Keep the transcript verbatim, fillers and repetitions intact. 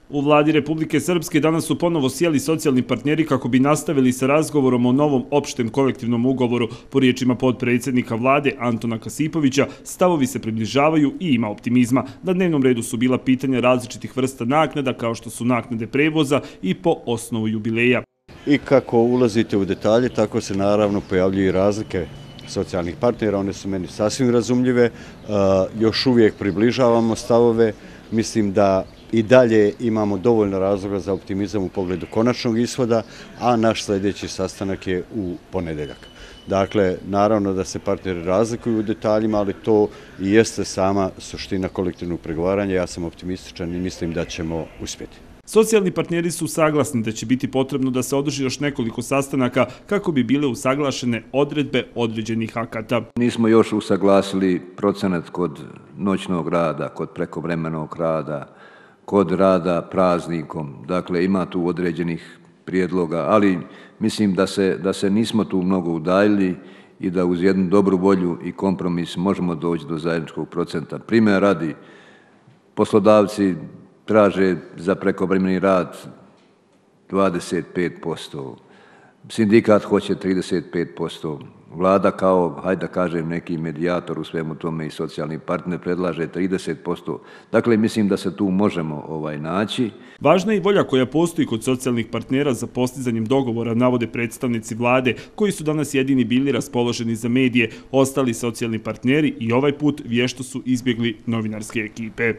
U vladi Republike Srpske danas su ponovo sjeli socijalni partneri kako bi nastavili sa razgovorom o novom opštem kolektivnom ugovoru. Po riječima potpredsjednika vlade Antona Kasipovića, stavovi se približavaju i ima optimizma. Na dnevnom redu su bila pitanja različitih vrsta naknada, kao što su naknade prevoza i po osnovu jubileja. I kako ulazite u detalje, tako se naravno pojavljuju i razlike socijalnih partnera, one su meni sasvim razumljive, još uvijek približavamo stavove, mislim da i dalje imamo dovoljno razloga za optimizam u pogledu konačnog ishoda, a naš sljedeći sastanak je u ponedeljak. Dakle, naravno da se partneri razlikuju u detaljima, ali to i jeste sama suština kolektivnog pregovaranja. Ja sam optimističan i mislim da ćemo uspjeti. Socijalni partneri su saglasni da će biti potrebno da se održi još nekoliko sastanaka kako bi bile usaglašene odredbe određenih akata. Nismo još usaglasili procenat kod noćnog rada, kod prekovremenog rada, kod rada praznikom. Dakle, ima tu određenih prijedloga, ali mislim da se, da se nismo tu mnogo udaljili i da uz jednu dobru volju i kompromis možemo doći do zajedničkog procenta. Primjer radi, poslodavci traže za prekovremeni rad dvadeset pet posto, sindikat hoće trideset pet posto, vlada kao, hajde da kažem, neki medijator u svemu tome i socijalni partner predlaže trideset posto. Dakle, mislim da se tu možemo ovaj, naći. Važna je i volja koja postoji kod socijalnih partnera za postizanjem dogovora, navode predstavnici vlade, koji su danas jedini bili raspoloženi za medije. Ostali socijalni partneri i ovaj put vješto su izbjegli novinarske ekipe.